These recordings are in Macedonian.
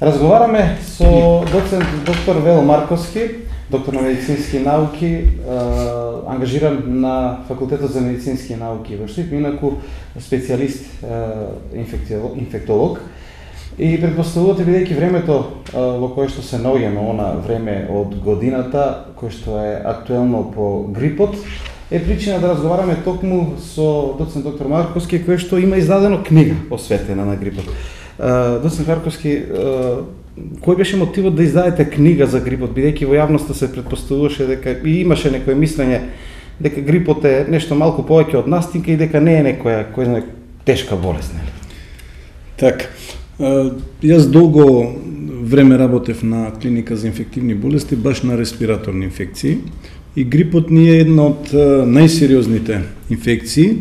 Разговараме со доцент доктор Вело Марковски, доктор на медицински науки, ангажиран на Факултетот за медицински науки во Штип, инаку специјалист инфектолог. И предпоставувате, бидејќи времето во кое што се наоѓаме, она време од годината, кое што е актуелно по грипот, е причина да разговараме токму со доцент доктор Марковски, кој што има издадено книга посветена на грипот. Доцент Марковски, кој беше мотивот да издадете книга за грипот, бидејќи во јавноста се предпоставуваше дека и имаше некое мислење дека грипот е нешто малку повеќе од настинка и дека не е некоја која тешка болест, нели? Така. Јас долго време работев на клиника за инфективни болести, баш на респираторни инфекции, и грипот ни е една од најсериозните инфекции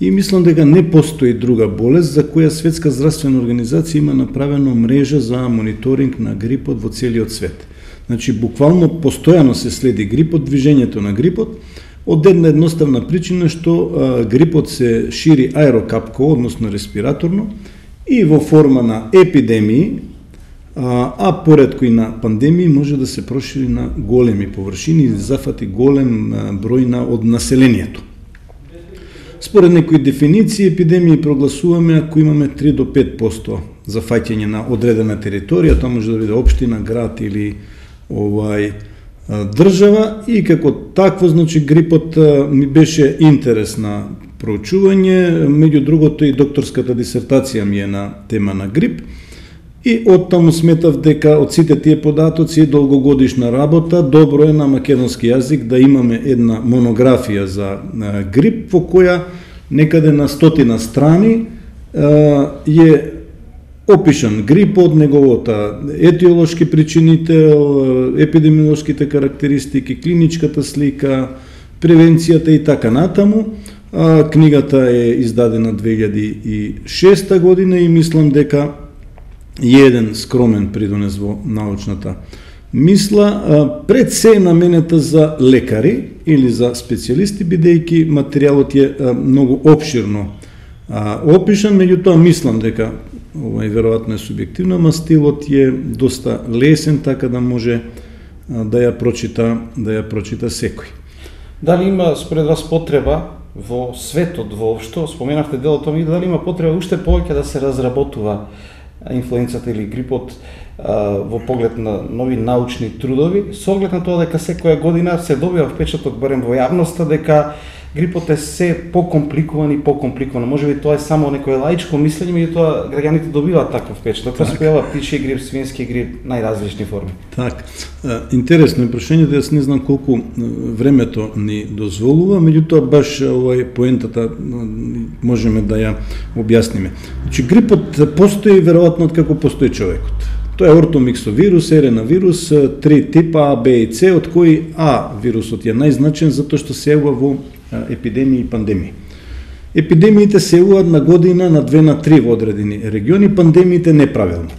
и мислам дека не постои друга болест за која Светска здравствена организација има направено мрежа за мониторинг на грипот во целиот свет. Значи, буквално постојано се следи грипот, движењето на грипот, од една едноставна причина што грипот се шири аерокапко, односно респираторно, и во форма на епидемии, а поредко и на пандемии може да се прошири на големи површини и да зафати голем број од населението. Според некои дефиниции, епидемии прогласуваме ако имаме 3 до 5% зафаќање на одредена територија, тоа може да биде општина, град или држава, и како такво, значи, грипот ми беше интересна проучување, меѓу другото и докторската дисертација ми е на тема на грип, и оттаму сметав дека од сите тие податоци е долгогодишна работа, добро е на македонски јазик да имаме една монографија за грип, во која некаде на 100 страни е опишан грипот, неговата етиолошки причинител, епидемиолошките карактеристики, клиничката слика, превенцијата и така натаму. Книгата е издадена 2006 година и мислам дека е еден скромен придонес во научната мисла, пред се наменета за лекари или за специјалисти, бидејќи материјалот е многу опширно опишан, меѓутоа мислам дека веројатно е субјективно, ама стилот е доста лесен, така да може да ја прочита секој. Дали има според вас потреба во светот воопшто, споменавте дел од тоа, дали има потреба уште повеќе да се разработува инфлуенцата или грипот во поглед на нови научни трудови, со оглед на тоа дека секоја година се добива впечаток барем во јавноста дека грипот е се покомпликуван и покомпликуван. Можеби тоа е само некое лаичко мислење, меѓутоа граѓаните добиваат таков впечаток. Тоа се појавува птичји грип, свински грип, најразлични форми. Така. Интересно е прашањето, јас не знам колку времето ни дозволува, меѓутоа баш поентата можеме да ја објасниме. Значи, грипот постои веројатно од како постои човекот. Тоа е ортомиксовирус, еренавирус, 3 типа А, Б и С, од кои А вирусот е најзначен затоа што се јавува во епидемии и пандемии. Епидемиите се јавуваат на година на 2 на 3 во одредени региони, пандемиите неправилно.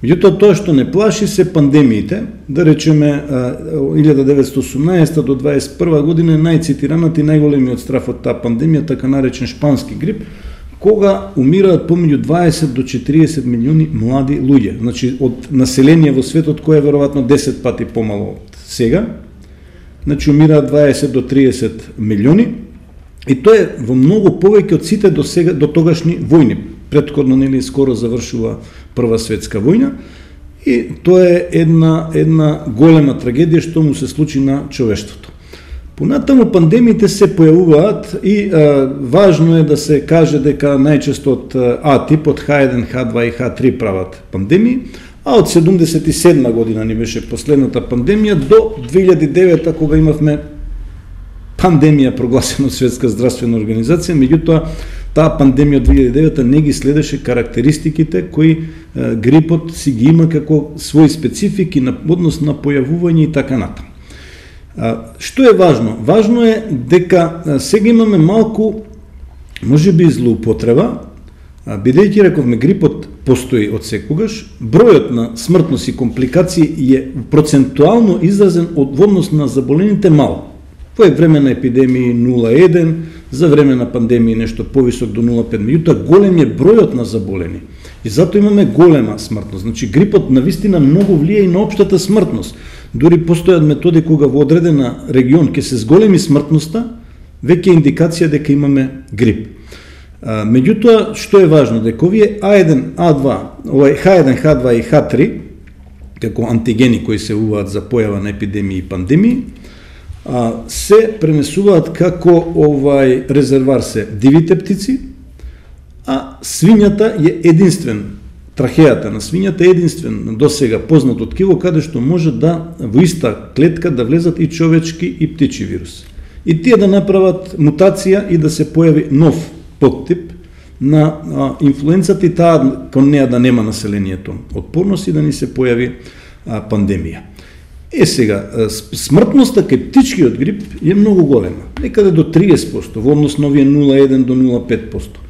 Меѓутоа, тоа што не плаши се пандемиите, да речеме 1918 до 21 година е најцитираната и најголемиот страф од таа пандемија, така наречен шпански грип, кога умираат помеѓу 20 до 40 милиони млади луѓе. Значи, од население во светот кој е веројатно 10 пати помало од сега, значи умираат 20 до 30 милиони, и тоа е во многу повеќе од сите до тогашни војни. Претходно, нели, скоро завршува Прва светска војна, и тоа е една голема трагедија што му се случи на човештвото. Понатаму пандемиите се појавуваат и важно е да се каже дека најчесто од А тип, од H1, H2 и H3 прават пандемии, а од 77 година ни беше последната пандемија до 2009 кога имавме пандемија прогласена од Светска здравствена организација, меѓутоа таа пандемија од 2009 не ги следеше карактеристиките кои грипот си ги има како своји специфики на однос на појавување и така натаму. Што е важно? Важно е дека сега имаме малку, можеби, злоупотреба, бидејќи рековме грипот постои од секогаш, бројот на смртност и компликации е процентуално изразен од однос на заболените мал. Во време на епидемии 0,1, за време на пандемии нешто повисок до 0,5, меѓутоа голем е бројот на заболени. И затоа имаме голема смртност. Значи грипот навистина многу влие и на општата смртност. Дури постојат методи кога во одредена регион ќе се зголеми смртноста, веќе индикација дека имаме грип. Меѓутоа, што е важно, дека овие А1, А2, H1, H2 и H3, како антигени кои се уваат за појава на епидемии и пандемии, се пренесуваат како резервар се дивите птици, а свињата е единствен, трахејата на свињата е единствен досега познато ткиво каде што може да во иста клетка да влезат и човечки и птичи вирус. И тие да направат мутација и да се појави нов подтип на инфлуенцата и таа кон неа да нема населението отпорност и да ни се појави пандемија. Сега, смртноста кај птичкиот грип е многу голема, некаде до 30%, во однос на овие 0,1 до 0,5%.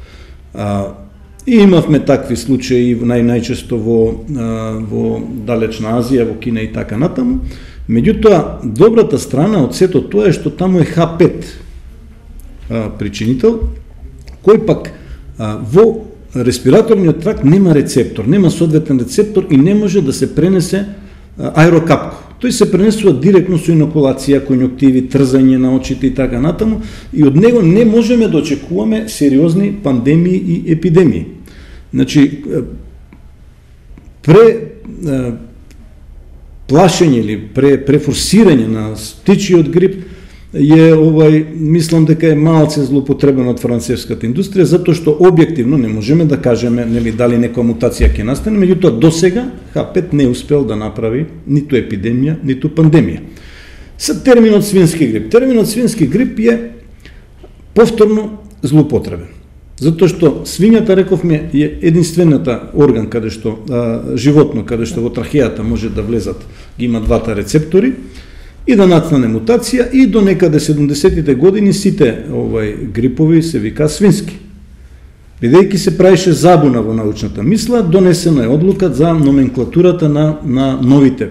И имавме такви случаи најчесто во далечна Азија, во Кина и така натаму. Меѓутоа, добрата страна од сето тоа е што таму е H5 причинител, кој пак во респираторниот тракт нема рецептор, нема соодветен рецептор и не може да се пренесе аерокапко. Тој се пренесува директно со инокулација, конјуктиви, трзање на очите и така натаму, и од него не можеме да очекуваме сериозни пандемии и епидемии. Значи, плашење или префорсирање на птичиот грип мислам дека е малце злоупотребено од фармацевската индустрија, затоа што објективно не можеме да кажеме дали некоја мутација ќе настане, меѓутоа досега H5 не успел да направи ниту епидемија, ниту пандемија. Со терминот свински грип. Терминот свински грип е повторно злоупотребен. Затоа што свињата, рековме, е единствената орган каде што животно, каде што во трахејата може да влезат, ги има двата рецептори, и да нацнане мутација, и до некаде 70-тите години сите грипови се вика свински. Бидејќи се правише забуна во научната мисла, донесена е одлука за номенклатурата на новите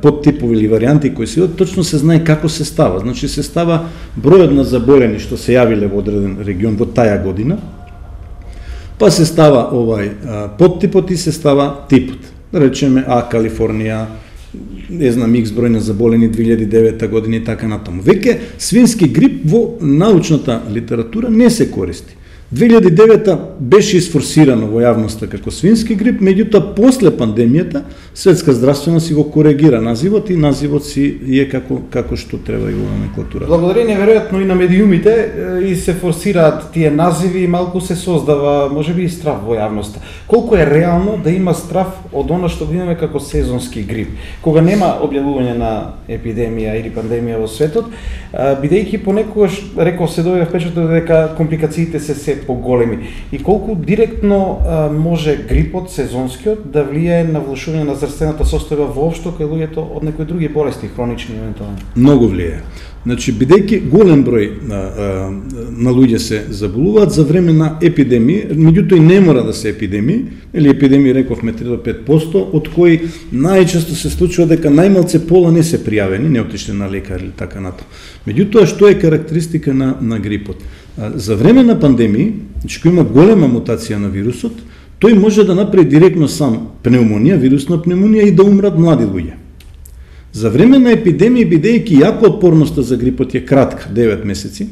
подтипови или варијанти кои се точно се знае како се става. Значи се става бројот на заболени што се јавиле во одреден регион во таја година, па се става подтипот и се става типот. Да речеме Калифорнија, не знам, X број на заболени 2009 година и така натаму. Веќе свински грип во научната литература не се користи. 2009 беше исфорсирано во јавноста како свински грип, меѓутоа после пандемијата Светска здравствена си го коригира називот и називот си е како што треба и во номенклатурата. Благодарение веројатно и на медиумите и се форсираат тие називи и малку се создава можеби и страв во јавноста. Колку е реално да има страв од она што го имаме како сезонски грип, кога нема објавување на епидемија или пандемија во светот, бидејќи понекогаш реков се дојде впечаток дека компликациите се поголеми и колку директно може грипот сезонскиот да влијае на влошување на здравствената состојба воопшто кај луѓето од некои други болести хронични евентуално? Многу влијае. Значи, бидејќи голем број на луѓе се заболуваат за време на епидемии, меѓутоа и не мора да се епидемии, или епидемии рековме 3 до 5%, од кои најчесто се случува дека најмалце пола не се пријавени, не отишле на лекар или така натаму. Меѓутоа, што е карактеристика на грипот? За време на пандемии, значи кој има голема мутација на вирусот, тој може да направи директно сам пневмонија, вирусна пневмонија и да умрат млади луѓе. За време на епидемија, бидејќи јако отпорноста за грипот е кратка, 9 месеци,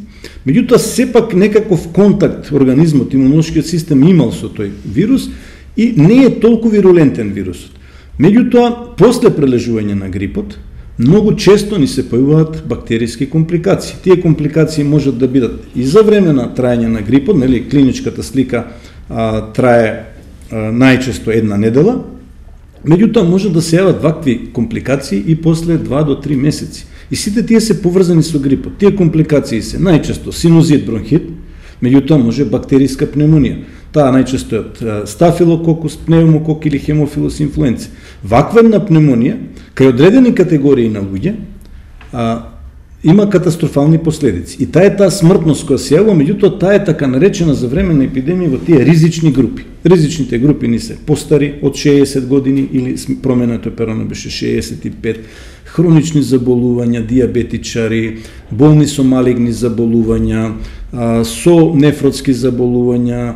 меѓутоа сепак некаков контакт организмот, имунолошкиот систем имал со тој вирус и не е толку вирулентен вирусот. Меѓутоа, после прележување на грипот, многу често ни се појавуваат бактериски компликации. Тие компликации можат да бидат и за време на трајање на грипот, клиничката слика трае најчесто една недела, меѓутоа може да се јават вакви компликации и после 2 до 3 месеци. И сите тие се поврзани со грипот. Тие компликации се најчесто синузит, бронхит, меѓутоа може бактериска пневмонија. Таа најчесто е од стафилококус, пневмокок или хемофилус инфлуенце. Ваква една пневмонија, кај одредени категории на луѓе, има катастрофални последици. И таа е таа смртност која се јавува, меѓутоа таа е така наречена за време на епидемија во тие ризични групи. Ризичните групи ни се постари од 60 години или променето перано беше 65, хронични заболувања, диабетичари, болни со малигни заболувања, со нефротски заболувања,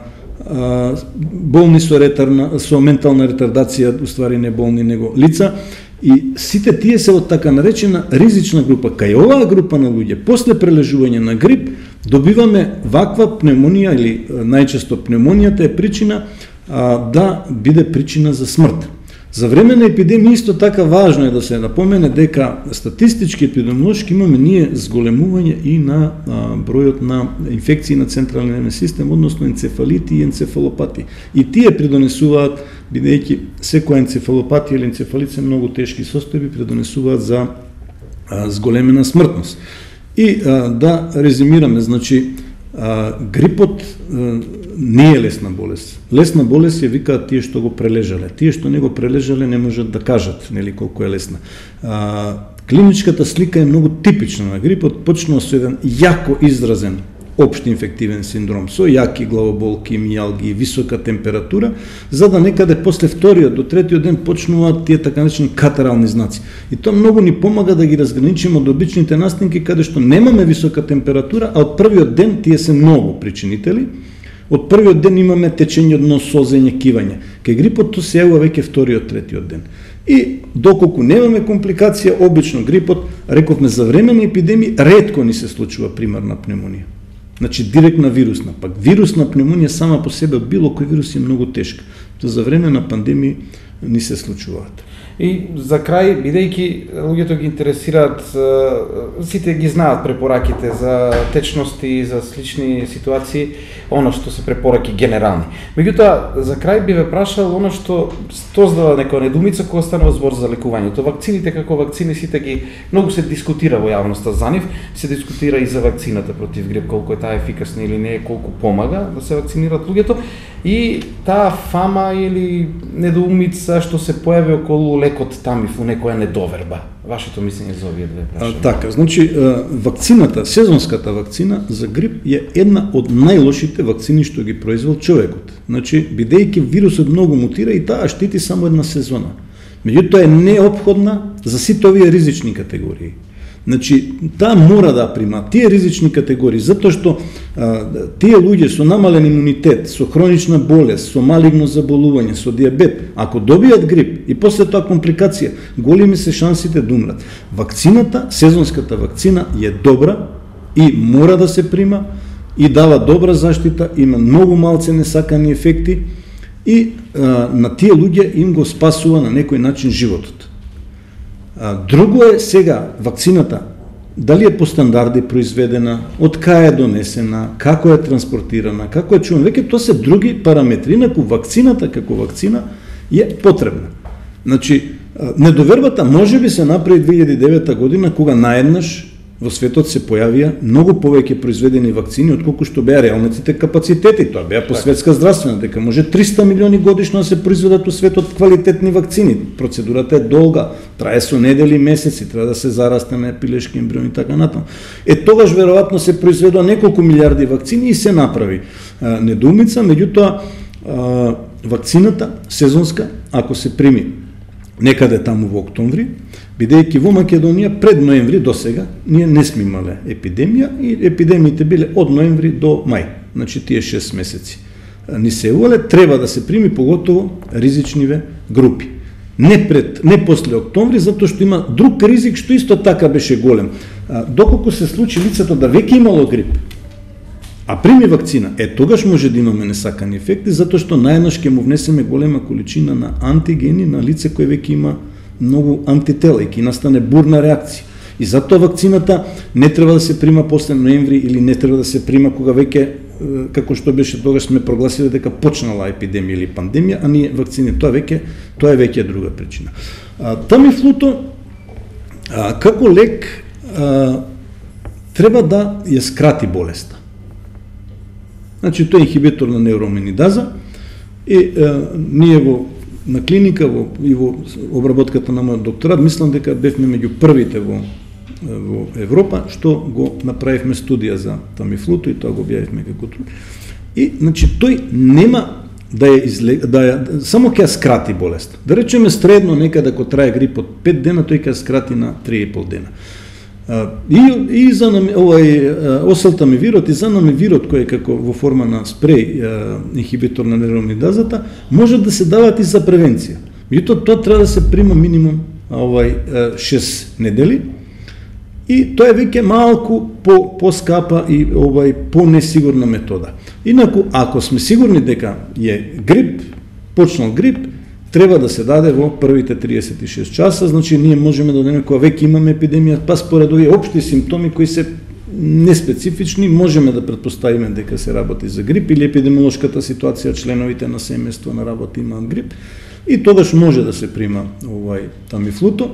болни со ментална ретардација, уствари не болни него лица, и сите тие се од така наречена ризична група. Кај оваа група на луѓе, после прележување на грип, добиваме ваква пневмонија, или најчесто пневмонијата е причина да биде причина за смрт. За време на епидемија исто така важно е да се напомене дека статистички епидемиолошки имаме ние зголемување и на бројот на инфекции на централниот нервен систем, односно енцефалити и енцефалопати. И тие придонесуваат, бидејќи секоја енцефалопатија или енцефалит се многу тешки состојби, придонесуваат за зголемена смртност. И да резимираме, значи, грипот не е лесна болест. Лесна болест ја викаат тие што го прележале. Тие што не го прележале не можат да кажат, нели, колку е лесна. Клиничката слика е многу типична на грипот, почнува со еден јако изразен општ инфективен синдром, со јаки главоболки, мијалги, висока температура, за да некаде после вториот до третиот ден почнуваат тие така наречени катарални знаци. И тоа многу ни помага да ги разграничиме од обичните настинки каде што немаме висока температура, а од првиот ден тие се многу причинители. Од првиот ден имаме течење од нос, созење, кивање. Кај грипот тоа се јавува веќе вториот, третиот ден. И доколку немаме компликација, обично грипот, рековме за време на епидемија, ретко ни се случува примарна пневмонија. Значи директна вирусна, пак вирусна пневмонија сама по себе од било кој вирус е многу тешка. Тоа за време на пандемија ни се случуваат. И за крај, бидејќи луѓето ги интересираат, сите ги знаат препораките за течности, за слични ситуации, оно што се препораки генерални. Меѓутоа, за крај би ве прашал оно што создава некоја недумица кога станува збор за лекувањето. Вакцините како вакцини сите ги многу се дискутира во јавноста за нив, се дискутира и за вакцината против грип, колку е таа ефикасна или не, колку помага да се вакцинираат луѓето, и таа фама или недоумица што се појави околу лекот Тамифлу, некоја недоверба. Вашето мислење за овие две прашања? Така, значи, вакцината, сезонската вакцина за грип е една од најлошите вакцини што ги произвел човекот. Значи, бидејќи вирусот многу мутира и таа штити само една сезона. Меѓутоа е неопходна за сите овие ризични категории. Значи, таа мора да прима тие ризични категории, затоа што тие луѓе со намален имунитет, со хронична болест, со малигно заболување, со диабет, ако добијат грип и после тоа компликација, големи се шансите да умрат. Вакцината, сезонската вакцина е добра и мора да се прима и дава добра заштита, има многу малце несакани ефекти и на тие луѓе им го спасува на некој начин животот. Друго е сега вакцината, дали е по стандарди произведена, од кај е донесена, како е транспортирана, како е чувана, веќе тоа се други параметри, инаку вакцината како вакцина е потребна. Значи, недовербата може би се направи 2009 година, кога наеднаш во светот се појавија многу повеќе произведени вакцини отколку што беа реалните капацитети. Тоа беа по светска здравствена, дека може 300 милиони годишно да се произведат у светот квалитетни вакцини. Процедурата е долга, трае со недели, месеци, треба да се зарастеме пилешки ембрион и така натаму. Тогаш веројатно се произведува неколку милиарди вакцини и се направи недоумица, меѓутоа вакцината сезонска, ако се прими некаде таму во октомври, бидејќи во Македонија пред ноември до сега ние не сме имале епидемија и епидемиите биле од ноември до мај, значи тие 6 месеци. Ни се увале, треба да се прими поготово ризичниве групи. Не после октомври, затоа што има друг ризик што исто така беше голем. Доколку се случи лицето да веќе имало грип, а прими вакцина, тогаш може да имаме несакани ефекти, затоа што наеднаш ќе му внесеме голема количина на антигени на лице кој веќе има многу антитела и ќе настане бурна реакција. И затоа вакцината не треба да се прима после ноември или не треба да се прима кога веќе, како што беше тогаш сме прогласиле дека почнала епидемија или пандемија, а ние вакцини, тоа е веќе друга причина. Тамифлуто како лек треба да ја скрати болеста. Значи, тоа е инхибитор на неуроминидаза и ние на клиника и во обработката на мојот докторат, мислам дека бевме меѓу првите во Европа што го направивме студија за тамифлуто и тоа го објавивме како труд. И значи тој нема само ќе ја скрати болест. Да речеме средно некаде ако трае грип од 5 дена, тој ќе ја скрати на 3,5 дена. И за осалтамивирот и занамивирот, кој е како во форма на спреј инхибитор на неуромидазата, може да се дават и за превенција. Меѓутоа тоа треба да се прима минимум 6 недели и тоа е веќе малку по-скапа и по-несигурна метода. Инаку, ако сме сигурни дека е грип, почнал грип, треба да се даде во првите 36 часа, значи ние можеме да одеме кога веќе имаме епидемија, па според овие општи симптоми кои се неспецифични, можеме да претпоставиме дека се работи за грип или епидемиолошката ситуација, членовите на семејство на работа имаат грип, и тогаш може да се прима тамифлуто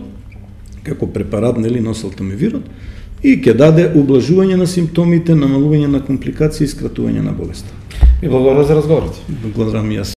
како препарат, нели, на осалтамивирот, и ќе даде ублажување на симптомите, намалување на компликации и скратување на болеста. И благодарам за разговорот. Благодарам и јас.